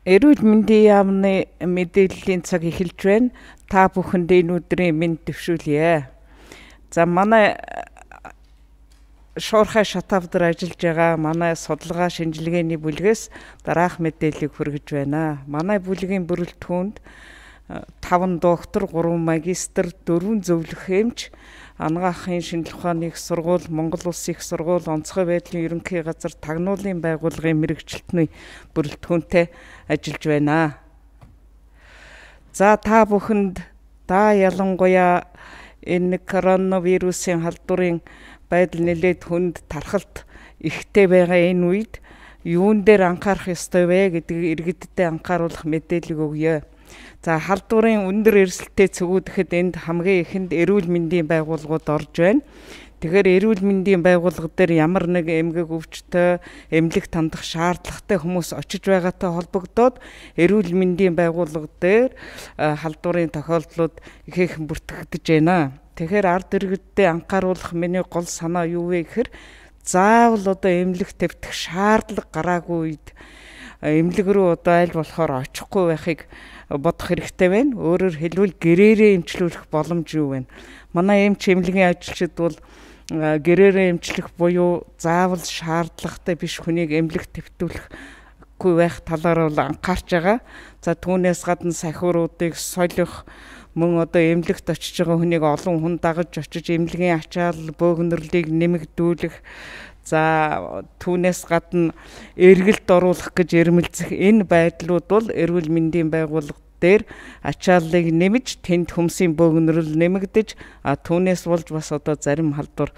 Эрүүл мэндийн яамны мэдээллийн цаг эхэлж байна. Та бүхэнд энэ өдрийн мэнд төвшүүлье. За манай шуурхай шатавдар ажиллаж байгаа манай судалгаа шинжилгээний бүлгээс дараах мэдээллийг хүргэж байна. Манай бүлгийн бүрэлдэхүүнд 5 доктор, 3 магистр, 4 зөвлөх эмч, анагаахын шинжилгээ ухааны их сургууль, Монгол Улсын их сургууль, онцгой байдлын ерөнхий газар, тагнуулын байгууллагын мэрэгчлэлтний бүрэлдэхүүнтэй ажиллаж байна. За та бүхэнд ялангуяа энэ коронавирусын халдварын байдал нэлээд хүнд тархалт ихтэй байгаа энэ үед юун дээр анхаарах ёстой вэ гэдгийг иргэдтэй анхааруулах мэдээлэл өгье. За халдварын өндөр эрсдэлтэй цэгүүдэхэд энд хамгийн ихэнд эрүүл мэндийн байгууллагууд орж байна. Тэгэхээр эрүүл мэндийн байгууллага дээр ямар нэг эмгэг өвчтөй, эмнэлэг тандах шаардлагатай хүмүүс очиж байгаатай холбогдоод эрүүл мэндийн байгууллага дээр халдварын тохиолдлууд ихээхэн бүртгэгдэж байна. Тэгэхээр ард иргэдтэй анхааруулах миний гол санаа юу вэ гэхээр заавал одоо эмнэлэг тавьчих шаардлага гараагүй үед эмнэлэг рүү одоо аль болохоор очихгүй байхыг бодох хэрэгтэй байна. Өөрөөр хэлбэл гэрээрээ эмчлүүлэх боломж юу вэ? Манай эмч эмнэлгийн ажилчид бол гэрээрээ эмчлэх буюу заавал шаардлагатай биш хүнийг эмнэлэг твтүүлэхгүй байх талаар бол анхаарч байгаа. За түүнээс гадна сахиуруудыг солих, мөн одоо эмнэлэгт очиж байгаа хүнийг олон хүн дагаж очиж эмнэлгийн ачаал бөөгнөрлийг нэмэгдүүлэх, за түүнээс гадна эргэлт оруулах гэж эрмэлзэх энэ байдлууд бол эрүүл мэндийн байгууллага дээр ачааллыг нэмж тэнд хүмсийн бөөгнөрөл нэмэгдэж түүнээс болж бас одоо зарим халдвар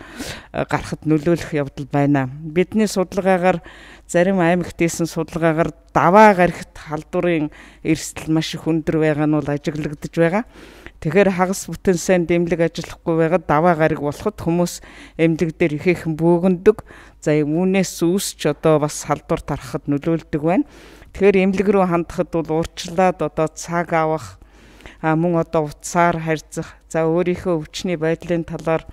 гарахад нөлөөлөх явдал байна. Бидний судалгаагаар зарим аймагт хийсэн судалгаагаар даваа гарагт халдварын эрсдэл маш их өндөр байгаа нь бол ажиглагдж байгаа. Тэгэхээр хагас бүтэн сайн эмнэлэг ажиллахгүй байгаад даваа гараг болоход хүмүүс эмнэлэг дээр ихээхэн бөөгндөг. За үүнээс үүсч одоо бас халдвар тарахад нөлөөлдөг байна. Тэгэхээр эмнэлэг рүү хандахад бол урьдчилаад одоо цаг авах, мөн одоо утсаар харьцах, за өөрийнхөө өвчний байдлын талаар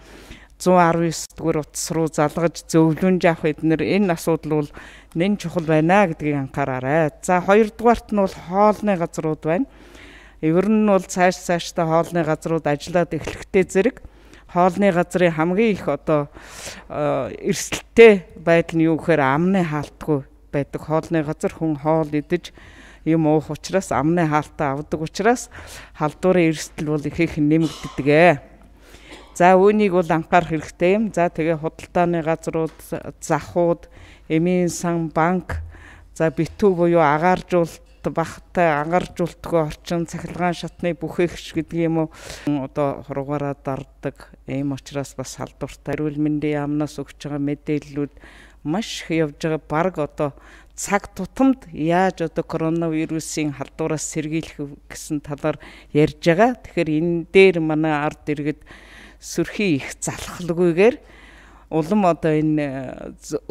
119 дугаар утас руу залгаж зөвлөмж авах энэ асуудал бол нэн чухал байна гэдгийг анхаараарай. За хоёрдугаарт нь бол хоолны газрууд байна. Ер нь бол цаашдаа хоолны газрууд ажиллаад эхлэхтэй зэрэг хоолны газрын хамгийн их одоо эрсдэлтэй байдал нь юу гэхээр амны хаалтгүй байдаг. Хоолны газар хүн хоол идэж юм уух учраас амны хаалтаа авдаг учраас халдварын эрсдэл бол ихээхэн нэмэгддэг. За үүнийг бол анхаарах хэрэгтэй юм. За тэгээ худалдааны газрууд, захууд, эмийн сан, банк, за битүү буюу агааржуулалт, багтай ангаржуултгүй орчин, цахилгаан шатны бүхээгч гэдэг юм уу одоо хургаараа дарддаг. Ийм учраас бас халдвартай эрүүл мэндийн яамнаас өгч байгаа мэдээллүүд маш их явж байгаа. Бараг одоо цаг тутамд яаж одоо коронавирусын халдвараас сэргийлэх гэсэн талаар ярьж байгаа. Тэгэхээр энэ дээр манай ард иргэд сөрхий их залхалгүйгээр улам одоо энэ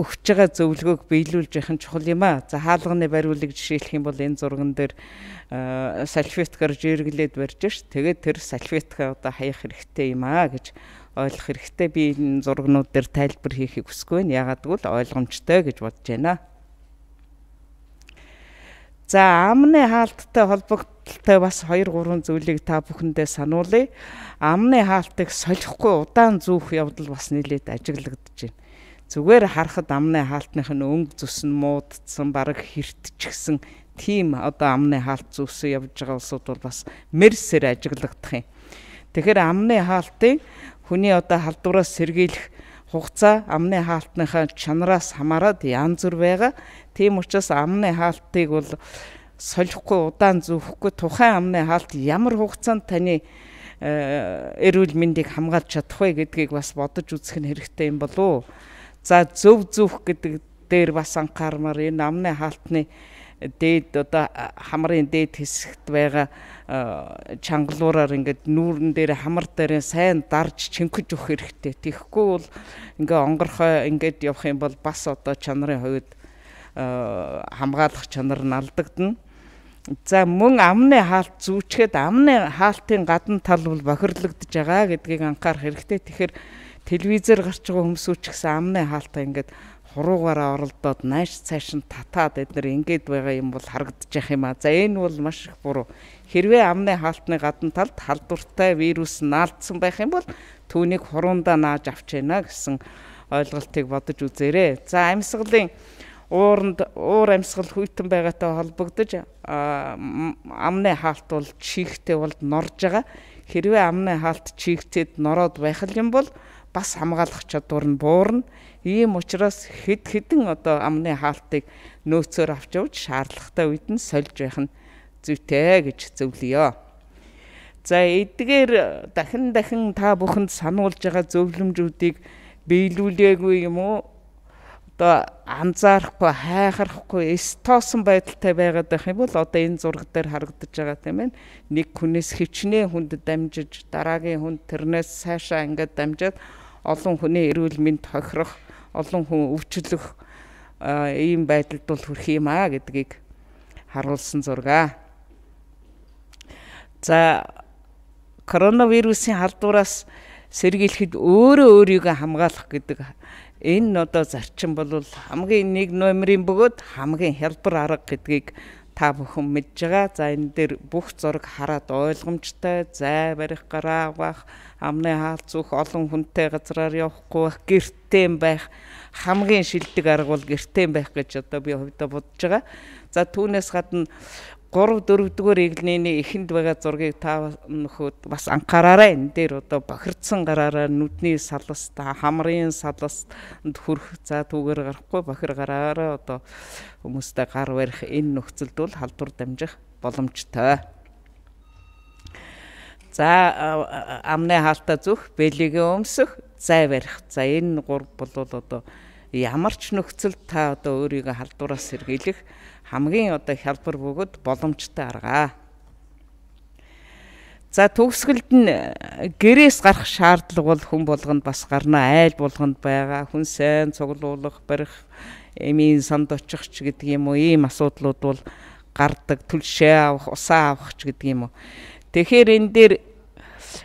өгч байгаа зөвлөгөөг биелүүлж явах нь чухал юм аа. За хаалганы бариулыг жишээлх юм бол энэ зурган дээр салфеткаар жиргэлээд барьж ш. Тэгээд тэр салфетка одоо хаях хэрэгтэй юм аа гэж ойлгох хэрэгтэй. Би энэ зургнууд дээр тайлбар хийхийг хүсэхгүй байна. Ягаад гэвэл ойлгомжтой гэж бодож байна. За амны хаалттай холбогдолтой бас 2-3 зүйлийг та бүхэндээ сануулъя. Амны хаалтыг солихгүй удаан зүүх явдал бас нэлээд ажиглагдаж байна. Зүгээр харахад амны хаалтных нь өнгө зүс нь муудсан, бараг хэртчихсэн тийм одоо амны хаалт зүүсэн явж байгаа улсууд бол бас мэрсээр ажиглагдах юм. Тэгэхээр амны хаалтыг хүний одоо халдвараас сэргийлэх хугацаа амны хаалтныхаа чанараас хамаарат янз бүр байгаа. Тийм учраас амны хаалтыг бол солихгүй удаан зүүхгүй тухайн амны хаалт ямар хугацаанд таны эрүүл мэндийг хамгаалж чадах вэ гэдгийг бас бодож үзэх нь хэрэгтэй юм болов уу. За зөв зүүх гэдэг дээр бас анхаармаар энэ амны хаалтны дээд одоо хамрын дээд хэсэгт байгаа чангалуураар ингээд нүүрэн дээр хамар дээр сайн дарж чинкэж өгөх хэрэгтэй. Тэгэхгүй бол ингээ онгорхой ингээд явах юм бол бас одоо чанарын хувьд хамгаалах чанар нь алдагдана. За мөн амны хаалт зүүчгээд амны хаалтын гадна тал бол бохирлогдож байгаа гэдгийг анхаарах хэрэгтэй. Тэгэхээр телевизээр гарч байгаа хүмүүсүүд ч гэсэн амны хаалтаа ингээд хуруугаараа оролдоод нааш цааш нь татаад эдгээр ингээд байгаа юм бол харагдчих юм аа. За энэ бол маш их буруу. Хэрвээ амны хаалтны гадна талд халдвартай вирус наалдсан байх юм бол түүнийг хуруундаа нааж авч яана гэсэн ойлголтыг бодож үзээрэй. За амьсгалын уур амьсгал хүйтэн байгаатай холбогдож амны хаалт бол чихтэй бол норж байгаа. Хэрвээ амны хаалт чихтэд нороод байх юм бол бас хамгаалах чадвар нь буурна. Ийм учраас хэдэн одоо амны хаалтыг нөөцөөр авч явж шаардлагатай үед нь сольж байх нь зүйтэй гэж зөвлөё. За эдгээр дахин та бүхэнд сануулж байгаа зөвлөмжүүдийг биелүүлээгүй юм уу? Одоо анзаарахгүй, хайхарахгүй, стоосон байдалтай байгаад байх юм бол одоо энэ зураг дээр харагдаж байгаа тийм ээ. Нэг хүнээс хичнээн хүнд дамжиж, дараагийн хүнд тэрнээс цаашаа ингээд дамжаад олон хүний эрүүл мэнд хохирох, олон хүн өвчлөх ийм байдалд бол хүрэх юм аа гэдгийг харуулсан зураг. За коронавирусын халдвараас сэргийлэхэд өөрийгөө хамгаалах гэдэг энэ одоо зарчим бол хамгийн нэг номерын бөгөөд хамгийн хялбар арга гэдгийг та бүхэн мэдж байгаа. За энэ дээр бүх зураг хараад ойлгомжтой, зай барих, гараа авах, амны хаалт зүүх, олон хүнтэй газраар явахгүй байх, гэртээ байх, хамгийн шилдэг арга бол гэртээ байх гэж одоо би хувьдаа бодож байгаа. За түүнээс гадна 3-4 дугаар эглэний эхэнд байгаа зургийг та нөхөд бас анхаараарай. Энэ дээр одоо бохирдсан гараараа нүдний саласт, хамрын саласт хүрэх, за түүгээр гарахгүй бохир гараараа одоо хүмүүстэй гар барих энэ нөхцөлд бол халдвар дамжих боломжтой. За амны хаалтаа зүүх, бэлигээ өмсөх, зай барих. За энэ 3 бол одоо ямар ч нөхцөлд та одоо өөрийгөө халдвараас сэргийлэх хамгийн одоо хялбар бөгөөд боломжтой арга. За төгсгөлд нь гэрээс гарах шаардлага бол хүн болгонд бас гарна, айл болгонд байгаа. Хүн сайн цуглуулах, барих, эмийн санд очих ч гэдэг юм уу, ийм асуудлууд бол гардаг. Түлшээ авах, усаа авах ч гэдэг юм уу. Тэгэхээр энэ дээр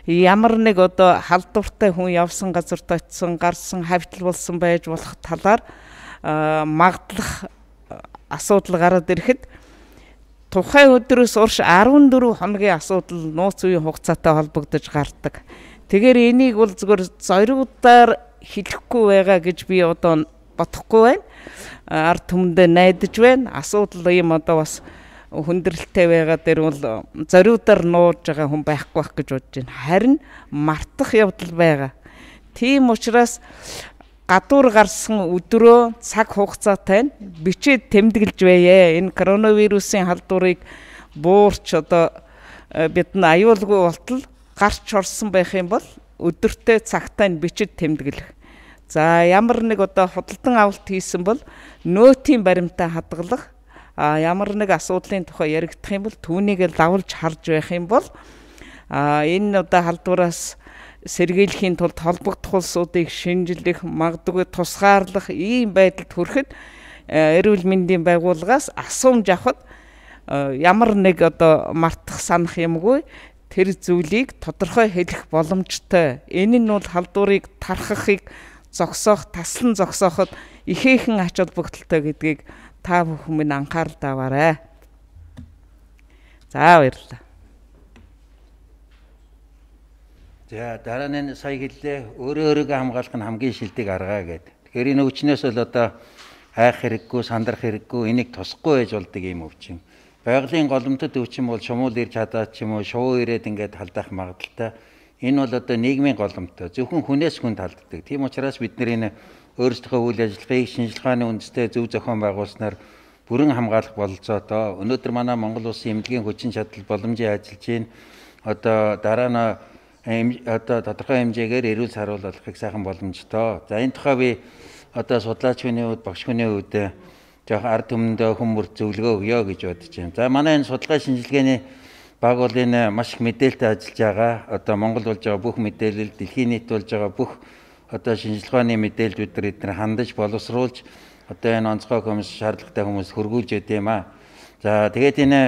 ямар нэг одоо халдвартай хүн явсан газарт очисон, гарсан, хавтал болсон байж болох талаар магадлах асуудал гараад ирэхэд тухайн өдрөөс урш 14 хоногийн асуудал нууц үеийн хугацаатай холбогдож гардаг. Тэгэхээр энийг бол зөвхөн зоригудаар хэлэхгүй байгаа гэж би одоо бодохгүй байна. Ард түмэндээ найдаж байна. Асуудал ийм одоо бас хүндрэлтэй байгаа дээр бол зоригудаар нууж байгаа хүн байхгүй байх гэж бодож байна. Харин мартах явдал байгаа. Тийм учраас гадуур гарсан өдрөө цаг хугацаатай бичээд тэмдэглэж байе. Энэ коронавирусын халдварыг буурч одоо бид нь аюулгүй болтол гарч орсон байх юм бол өдөртөө цагтаа бичиж тэмдэглэх. За ямар нэг одоо худалдан авалт хийсэн бол нөөтийн баримтаа хадгалах. Ямар нэг асуудлын тухай яригдах юм бол түүнийг лавлж харж байх юм бол энэ одоо халдвараас сэргийлэхийн тулд холбогдох улсуудыг шинжлэх, магадгүй тусгаарлах ийм байдалд хүрэхэд эрүүл мэндийн байгууллагаас асуумж авахд ямар нэг одоо мартах санах юмгүй тэр зүйлийг тодорхой хэлэх боломжтой. Энэ нь бол халдварыг тархахыг зогсоох, таслан зогсооход ихээхэн ач холбогдолтой гэдгийг та бүхэн минь анхаарал таваарай. За баярлалаа. За дараа нь сая хэллээ өөрийгөө хамгаалах нь хамгийн шилдэг арга гэдэг. Тэгэхээр энэ өвчнөөс бол одоо хайх хэрэггүй, сандрах хэрэггүй, энийг тусахгүй байж болдог юм өвчин. Байгалийн голомтод өвчин бол шумуул ирж хадаад ч юм уу шувуу ирээд ингээд халдах магадaltaй. Энэ бол одоо нийгмийн голомтой. Зөвхөн хүнээс хүнд халддаг. Тийм учраас бид энэ өөрсдийнхөө үйл ажиллагааг шинжилгээ ухааны үндэстэй зөв зохион байгуулснаар бүрэн хамгаалах бололцоотой. Өнөөдөр манай Монгол Улсын эмнэлгийн хүчин чадал боломжийн ажиллаж байна. Одоо дараа нь одоо тодорхой хэмжээгээр эрүүл саруулахыг сайхан боломжтой. За энэ тухай би одоо судлаач хүний хувьд, багш хүний хувьд жоох ард түмэндээ хүмүүр зөвлөгөө өгье гэж бодож байна. За манай энэ судалгаа шинжилгээний баг бол энэ маш их мэдээлэлтэй ажиллаж байгаа. Одоо Монгол болж байгаа бүх мэдээлэл, дэлхийн нийт болж байгаа бүх одоо шинжилгээ ухааны мэдээллүүд эдгээр хандаж боловсруулж одоо энэ онцгой хүмүүс шаардлагатай хүмүүс хөргүүлж өгд юм аа. За тэгээд энэ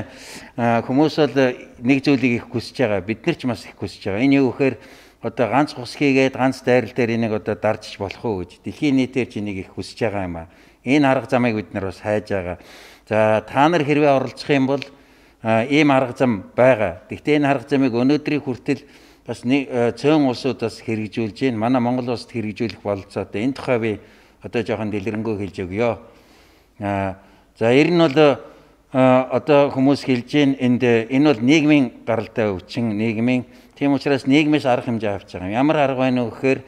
хүмүүс бол нэг зүйлийг их хүсэж байгаа. Бид нар ч бас их хүсэж байгаа. Энэ юу гэхээр одоо ганц хус хийгээд ганц дайрал дээр энийг одоо дарж болох уу гэж дэлхийн нийтээр ч энийг их хүсэж байгаа юм аа. Энэ арга замыг бид нар бас хайж байгаа. За та нар хэрвээ оролцох юм бол ийм арга зам байгаа. Гэхдээ энэ арга замыг өнөөдрийн хүртэл бас цөөн улсууд бас хэрэгжүүлж байна. Манай Монгол улсад хэрэгжүүлэх бололцоотой. Энэ тухай би одоо жоохон дэлгэрэнгүй хэлж өгье. За ер нь бол одоо хүмүүс хэлж байна энэ бол нийгмийн гаралтай өвчин, нийгмийн. Тийм учраас нийгмээс арга хэмжээ авч байгаа юм. Ямар арга байна вэ гэхээр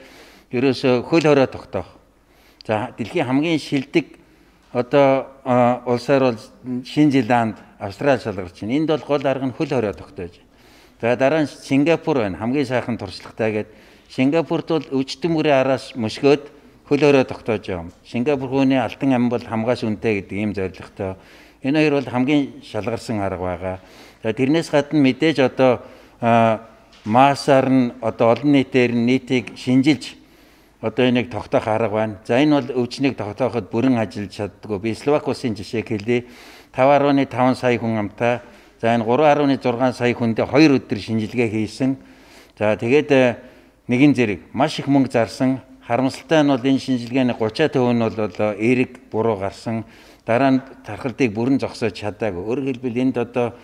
ерөөсөө хөл хорой тогтоох. За дэлхийн хамгийн шилдэг одоо улсаар бол Шинэ Зеланд, Австрали шалгарч байна. Энд бол гол арга нь хөл хорой тогтоож байна. За дараа нь Сингапур байна. Хамгийн сайхан туршлагатай гэдэг. Сингапурт бол өвчтөн мөрийн араас мөсгөөд хөл хорой тогтоож байгаа юм. Сингапур хүний алтан ам бол хамгаас үнэтэй гэдэг ийм зорилготой. Энэ хоёр бол хамгийн шалгарсан арга байгаа. За тэрнээс гадна мэдээж одоо маасаар нь одоо олон нийтээр нийтийг шинжилж одоо энийг тогтоох арга байна. За энэ бол өвчнийг тогтооход бүрэн ажиллаж чаддгүй. Би Словак улсын жишээг хэлье. 5.5 сая хүн амтай. За энэ 3.6 сая хүндээ 2 өдөр шинжилгээ хийсэн. За тэгээд нэгэн зэрэг маш их мөнгө зарсан. Харамсалтай нь бол энэ шинжилгээний 30% нь бол эерэг буруу гарсан. Дараа нь тархалтыг бүрэн зогсоож чадаагүй. Өөрөөр хэлбэл энд одоо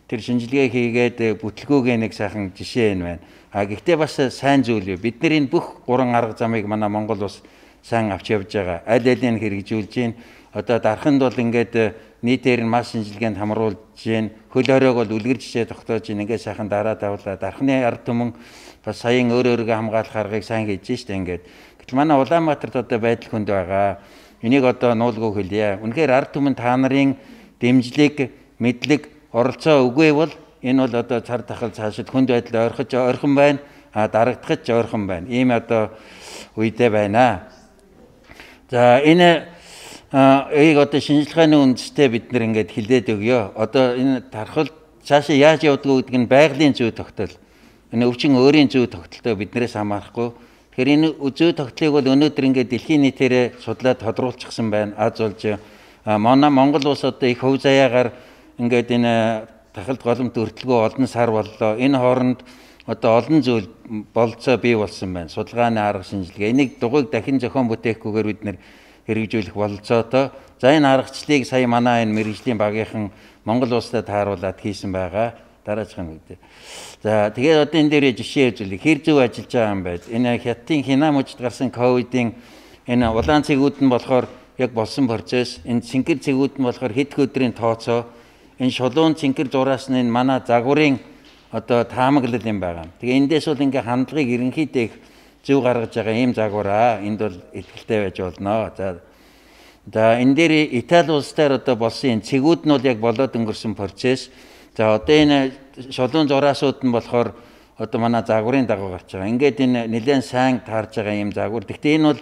тэр шинжилгээ хийгээд бүтлгүүгээ нэг сайхан жишээ энэ байна. Гэхдээ бас сайн зүйл юу. Бид нар энэ бүх 3 арга замыг манай Монгол улс сайн авч явж байгаа. Аль алийг хэрэгжүүлж байна. Одоо дарханд бол ингээд нийтээр нь мас шинжилгээнд хамруулж байна. Хөл хоройг бол үлгэр жишээ тогтоож байна. Ингээд сайхан дараа тавлаа. Дархны ард түмэн бас саяын өөрөөрөө хамгаалах аргыг сайн хийж штэ ингээд. Гэтэл манай Улаанбаатарт одоо байдал хүнд байгаа. Энийг одоо нуулгүй хэлье. Үнэхээр ард түмэн та нарын дэмжлэг, мэдлэг, оролцоо үгүй бол энэ бол одоо цар тахал цаашид хүнд байдал ойрхон байна. Дарагдахад ч ойрхон байна. Ийм одоо үедээ байна. За энэ одоо шинжилгээний үндэстэй бид нэр ингээд хилээд өгье. Одоо энэ тархал цаашаа яаж явдгуу гэдэг нь байгалийн зүй тогтол. Энэ өвчин өөрийн зүй тогтолтой биднээс хамаарахгүй. Тэгэхээр энэ зүй тогтолыг бол өнөөдөр ингээд дэлхийн нийтээрээ судлаад тодруулчихсан байна. Аз болж Монгол улс одоо их хөв заяагаар ингээд энэ тахалт голомт өртөлгөө олон сар боллоо. Энэ хооронд одоо олон зүйл болцоо бий болсон байна. Судалгааны арга шинжилгээ. Энийг дугуйг дахин зохион бүтээхгүйгээр бид нэр хэрэгжүүлэх бололцоотой. За энэ аргачлалыг сая манай энэ мэргэжлийн багийнхан Монгол улсад тааруулаад хийсэн байгаа. Дараагийн үед. За тэгээд одоо энэ дээр жишээ үзүүлээ. Хэр зөв ажиллаж байгаа юм бэ? Энэ хятадын Хинам мужид гарсан ковидын энэ улаан цэгүүд нь болохоор яг болсон процесс. Энэ цэнхэр цэгүүд нь болохоор хэд өдрийн тооцоо. Энэ шулуун цэнхэр зураас нь энэ манай загварын одоо таамаглал юм байгаа. Тэгээ эндээс бол ингээ хандлагыг ерөнхийдөө их зөв гаргаж байгаа ийм загвараа. Энд бол ихтэй байж болно. За энэ дээр Итали улс дээр одоо болсон энэ цэгүүд нь бол яг болоод өнгөрсөн процесс. За одоо энэ шулуун зураасууд нь болохоор одоо манай загварын дагуу гарч байгаа. Ингээд энэ нэлээд сайн таарж байгаа ийм загвар. Гэхдээ энэ бол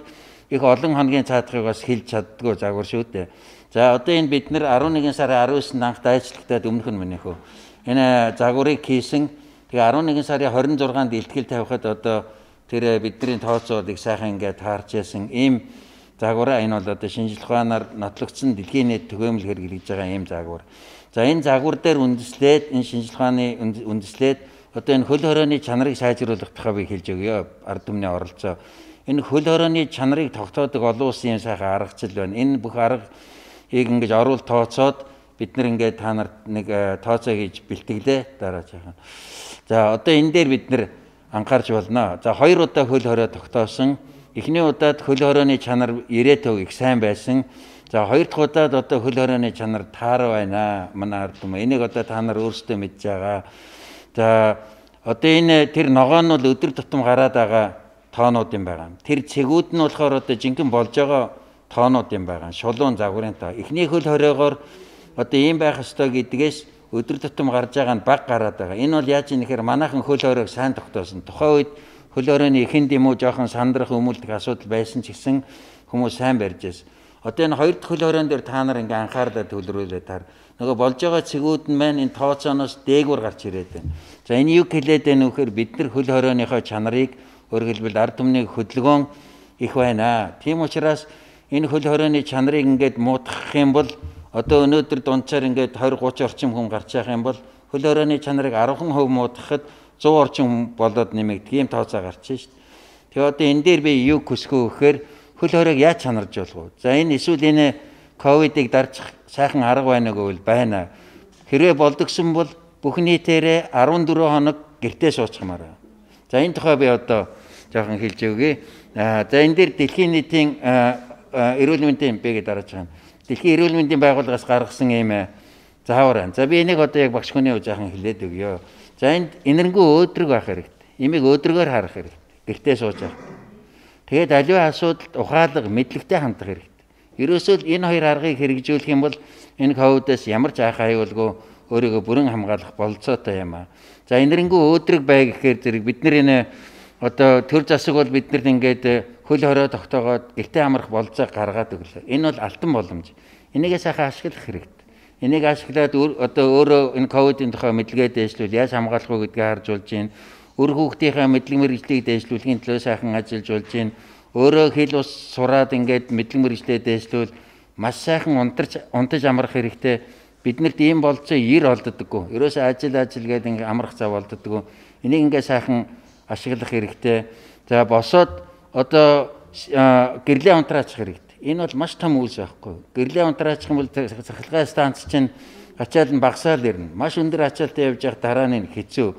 их олон хоногийн цаадахыг бас хэлж чаддгүй загвар шүү дээ. За одоо энэ бид нэр 11 сарын 19-нд анх дайчлагтаад өмнөх нь минийхөө энэ загварыг хийсэн. Тэгээ 11 сарын 26-нд илтгэл тавихад одоо тэр бидний тооцоолыг сайхан ингээд таарч яасан ийм загвараа. Энэ бол одоо шинжилгээ ухаанаар нотлогдсон дэлхийн нийт түгээмэл хэрэглэж байгаа ийм загвар. За энэ загвар дээр үндэслээд энэ шинжилгээ ухааны үндэслээд одоо энэ хөл хоройны чанарыг сайжруулах тухай би хэлж өгье. Ард түмний оролцоо. Энэ хөл хоройны чанарыг тогтоодог олон улсын юм сайхан аргачлал байна. Энэ бүх аргыг ингэж оруулалт тооцоод бид нар ингээд та нарт нэг тооцоо хийж бэлтгэлээ дараа жаахан. За одоо энэ дээр бид нар анхаарч болно. За 2 удаа хөл хорой тогтоосон. Эхний удаад хөл хоройны чанар 90% их сайн байсан. За 2 дахь удаад одоо хөл хоройны чанар таар байна. Манай ард түмэн энийг одоо та нар өөрсдөө мэдж байгаа. За одоо энэ тэр ногоон нь бол өдөр тутам гараад байгаа тоонууд юм байгаа. Тэр цэгүүд нь болохоор одоо жинхэнэ болж байгаа тоонууд юм байгаа. Шулуун загварын тоо. Эхний хөл хоройгоор одоо ийм байх ёстой гэдгээс өдөр тутам гарч байгаа нь баг гараад байгаа. Энэ бол яаж юм нэхэр манайхан хөл хоройг сайн тогтоосон. Тухайн үед хөл хоройны эхэнд юм уу жоохон сандрах өмөлдөх асуудал байсан ч гэсэн хүмүүс сайн барьж байсан. Одоо энэ 2 дахь хөл хоройн дээр та нар ингээ анхаарлаа төвлөрүүлээ таар. Нөгөө болж байгаа цэгүүд нь маань энэ тооцооноос дээгүүр гарч ирээд байна. За энэ юу хэлээд байна вөхөр бид нар хөл хоройныхоо чанарыг өөрөлдвөл ард түмний хөдөлгөөн их байна. Тийм учраас энэ хөл хоройны чанарыг ингээд муудах юм бол одоо өнөөдөр дунджаар ингээд 20-30 орчим хүн гарч явах юм бол хөл хоройны чанарыг 10% муудахад 100 орчим болоод нэмэгдэх ийм тооцоо гарч шít. Тэгээ одоо энэ дээр би юу хүсэх вэ гэхээр хөл хориг яаж чанарж болох вэ? За энэ эсвэл энэ ковидыг дарчих сайхан арга байна гэвэл байна. Хэрвээ болдгсон бол бүх нийтээрээ 14 хоног гэртээ суучихмаар байна. За энэ тухай би одоо жоохон хэлж өгье. За энэ дээр дэлхийн нийтийн эрүүл мэндийн эмпэгээ дарааж байгаа. Дэлхийн эрүүл мэндийн байгууллагаас гаргасан ийм заавар байна. За би энийг одоо яг багш хүний жоохон хэлээд өгье. За энд энэрнгүү өөдрөг байх хэрэгтэй. Имийг өөдрөгөөр харах хэрэгтэй. Гэртээ сууж байгаа. Тэгээд аливаа асуудалд ухаалаг мэдлэгтэй хандах хэрэгтэй. Ерөөсөө энэ хоёр аргыг хэрэгжүүлэх юм бол энэ ковидоос ямар ч айх аюулгүй өөрийгөө бүрэн хамгаалах болцоотой юм аа. За энэрнгүү өөдрөг бай гэхээр зэрэг бид нар энэ одоо төр засаг бол биднэрт ингээд хөл хорой тогтоогоод гэртээ амрах болцоог гаргаад өглөө. Энэ бол алтан боломж. Энийгээ сайхан ашиглах хэрэгтэй. Энийг ашиглаад одоо өөрөө энэ ковидын тухай мэдлэгээ дэвшлүүл яаж хамгаалах вэ гэдгийг харж болж байна. Өр хүүхдийнхээ мэдлэг мэргэжлийг дэвшлүүлэхийн төлөө сайхан ажиллаж болж байна. Өөрөө хэл ус сураад ингээд мэдлэг мэргэжлээ дэвшлүүл маш сайхан унтаж амрах хэрэгтэй. Биднэрт ийм болцоо 90 олддоггүй. Ерөөсөө ажил гэдэг ингээд амрах зав олддоггүй. Энийг ингээд сайхан ашиглах хэрэгтэй. За босоод одоо гэрлээ унтраачих хэрэгтэй. Энэ бол маш том үйлс байхгүй. Гэрлээ унтраачих юм бол цахилгаан станц чинь ачаал нь багасаал ирнэ. Маш өндөр ачаалтай явж явах дараа нь хэцүү.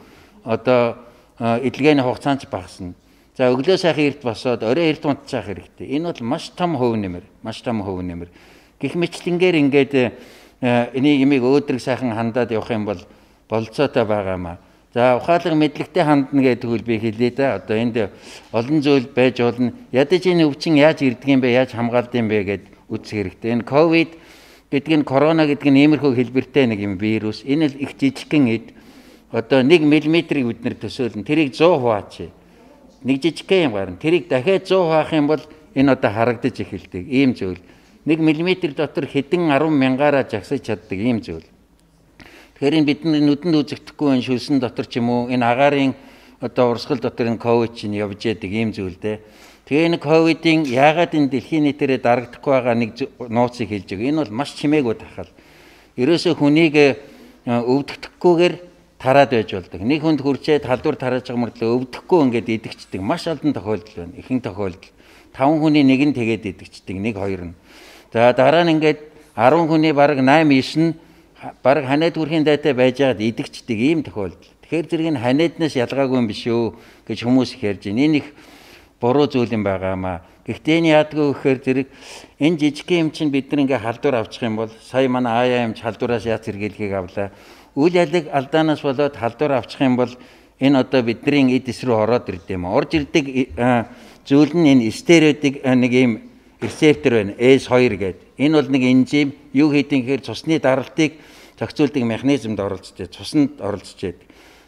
Одоо эдлэгээний хугацаанд багасна. За өглөө сайхан эрт босоод орой эрт унтчих хэрэгтэй. Энэ бол маш том хөв нэмэр. Гэх мэтлэнгээр ингээд энийг имийг өөдрөг сайхан хандаад явах юм бол болцоотой байгаамаа. За ухаалаг мэдлэгтэй хандна гэдэг үл би хэлээ да. Одоо энд олон зүйл байж болно. Ядаж энэ өвчин яаж ирдэг юм бэ? Яаж хамгаалдаг юм бэ гэд үзэх хэрэгтэй. Энэ ковид гэдэг нь корона гэдэг нь иймэрхүү хэлбэртэй нэг юм вирус. Энэ л их жижигхэн эд. Одоо 1 мм-ийг бид нэр төсөөлнө. Тэрийг 100 хуваач. Нэг жижигхэн юм гарна. Тэрийг дахиад 100 хуваах юм бол энэ одоо харагдаж эхэлдэг. Ийм зүйл. 1 мм дотор хэдэн 10 мянгаараа жагсаж чаддаг ийм зүйл. Тэгэхээр энэ бидний нүдэнд үзэгдэхгүй энэ шүлсэн дотор ч юм уу энэ агаарын одоо урсгал дотор энэ ковид чинь явж яадаг ийм зүйл дээ. Тэгээ энэ ковидын яагаад энэ дэлхийн нийтээрээ дарагдахгүй байгаа нэг нууцыг хэлж байгаа. Энэ бол маш чимээгүй тархал. Ерөөсөө хүнийг өвдөгдөхгүйгээр тараад байж болдог. Нэг хүнд хүрчээд халдвар тарааж байгаа мөртлөө өвдөхгүй ингээд идэгчдэг. Маш олон тохиолдол байна. Ихэнх тохиолдол 5 хүний нэг нь тэгээд идэгчдэг. 1 2 нь. За дараа нь ингээд 10 хүний бараг 8 9 нь бараг ханаад хүрхийн дайтай байж байгаад идэгчдэг ийм тохиолдол. Тэгэхээр зэрэг нь ханааднаас ялгаагүй юм биш үү гэж хүмүүс их ярьж байна. Энэ их буруу зүйл юм байгаамаа. Гэхдээ энэ яадгүй гэхээр зэрэг энэ жижигхэн юм чинь бид нар ингээ халдвар авчих юм бол сая манай аяа юмч халдвараас яаж сэргийлэхийг авлаа. Үйл ялэг алдаанаас болоод халдвар авчих юм бол энэ одоо бидний эд эс рүү ороод ирд юм. Орж ирдэг зүйл нь энэ стереотик нэг ийм рецептор байна. S2 гэдэг. Энэ бол нэг энзим юу хийдэг гэхээр цусны даралтыг зохицуулдаг механизмд оролцож байна. Цуснд оролцож байдаг.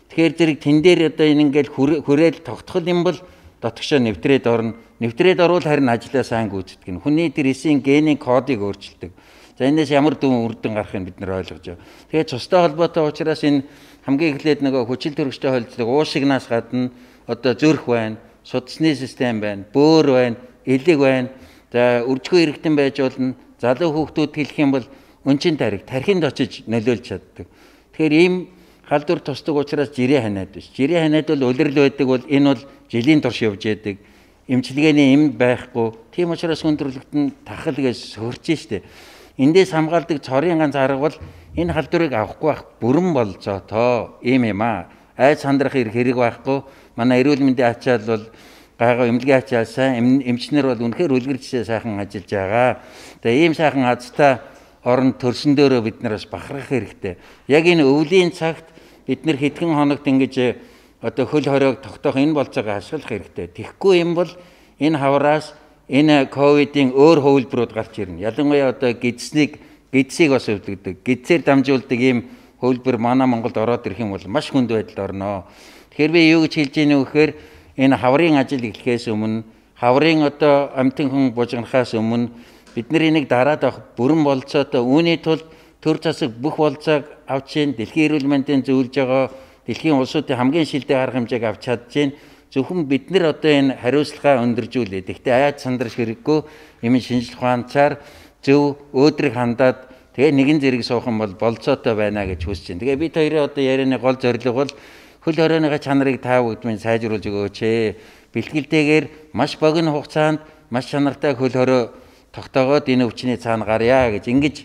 Тэгэхээр зэрэг тэн дээр одоо энэ ингээл хүрээл тогтхол юм бол дотгошоо нэвтрээд орно. Нэвтрээд орвол харин ажлаа сайн гүйцэтгэв. Хүний тэрсийн генийн кодыг өөрчилдөг. За энэс ямар дүн үрдэн гарахыг бид нар ойлгож байгаа. Тэгээд цустай холбоотой учраас энэ хамгийн эхлээд нөгөө хүчил төрөгчтэй холилдог уушигнаас гадна одоо зүрх байна, судасны систем байна, бөөр байна, элэг байна. За үржихүй иргэдэн байж болно. Залуу хүүхдүүд хэлэх юм бол өнчин тархинд очиж нөлөөлж чаддаг. Тэгэхээр ийм халдвар тусдаг учраас жирийн ханиад биш. Жирийн ханиад бол улирал байдаг бол энэ бол жилийн турш явж яадаг. Эмчилгээний эмд байхгүй. Тийм учраас хүндрэлтэн тахал гэж сөрж штэ. Эндээс хамгаалдаг цорын ганц арга бол энэ халдварыг авахгүй байх бүрэн болцоотоо ийм юм аа. Айц сандрах хэрэг байхгүй. Манай эрүүл мэндийн ачаал бол гайгаа эмнэлгийн ачаал сайн эмчнэр бол үнэхээр үлгэрчээ сайхан ажиллаж байгаа. Тэгээ ийм сайхан азтай орон төрсөн дээрөө бид нараас бахархах хэрэгтэй. Яг энэ өвлийн цагт бид нар хэдхэн хоногт ингэж одоо хөл хоройг тогтоох энэ болцоогоо ашиглах хэрэгтэй. Тэгэхгүй юм бол энэ хавраас энэ ковидын өөр хувилбарууд гарч ирнэ. Ялангуяа одоо гидсийг бас өвдөгдөг. Гидсээр дамжуулдаг ийм хувилбар манай Монголд ороод ирэх юм бол маш хүнд байдалд орно. Тэгэхээр би юу гэж хэлж ийнэ вэ гэхээр энэ хаврын ажил эхлэхээс өмнө хаврын одоо амтэн хүн бужигнахаас өмнө бид нар энийг дараад авах бүрэн болцоотой үүний тулд төр засаг бүх болцоог авч ийн дэлхийн эрүүл мэндийн зөвлөж байгаа дэлхийн улсуудын хамгийн шилдэг арга хэмжээг авч чадж ийн зөвхөн бид нар одоо энэ хариуцлагаа өндөржүүлээд гэхдээ аяад сандарч хэрэггүй юм шинжлэх ухаанчаар зөв өөдрөг хандаад тэгээ нэгэн зэрэг суух юм бол болцоотой байна гэж хүсэж байна. Тэгээ бид хоёрын одоо ярианы гол зорилго бол хөл хорионы чанарыг та бүгд минь сайжруулж өгөөч. Бэлтгэлтэйгээр маш богино хугацаанд маш чанартай хөл хорой тогтоогоод энэ өвчний цаана гарья гэж ингэж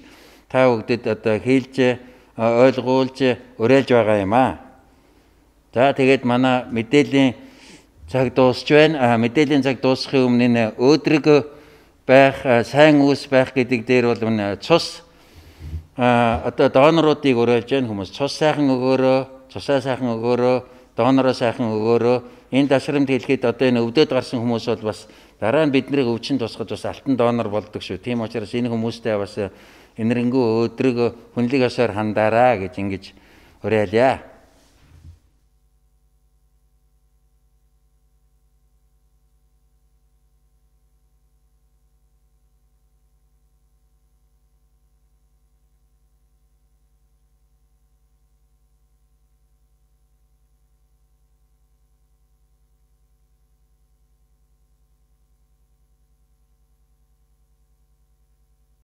та бүгдэд одоо хэлж ойлгуулж уриалж байгаа юм аа. За тэгээд манай мэдээллийн цаг дуусч байна. Мэдээллийн цаг дуусахын өмнө энэ өөдрөг байх, сайн үүс байх гэдэг дээр бол цус одоо доноруудыг уриалж байна хүмүүс. Цус сайхан өгөөрөө, цусаа сайхан өгөөрөө, донороо сайхан өгөөрөө. Энэ ташрамд хэлэхэд одоо энэ өвдөд гарсан хүмүүс бол бас дараа нь биднийг өвчин тусахад бас алтан донор болдог шүү. Тийм учраас энэ хүмүүстэй бас энэрэнгүй өөдрөг хүнлэг ёсоор хандаараа гэж ингэж уриалъя.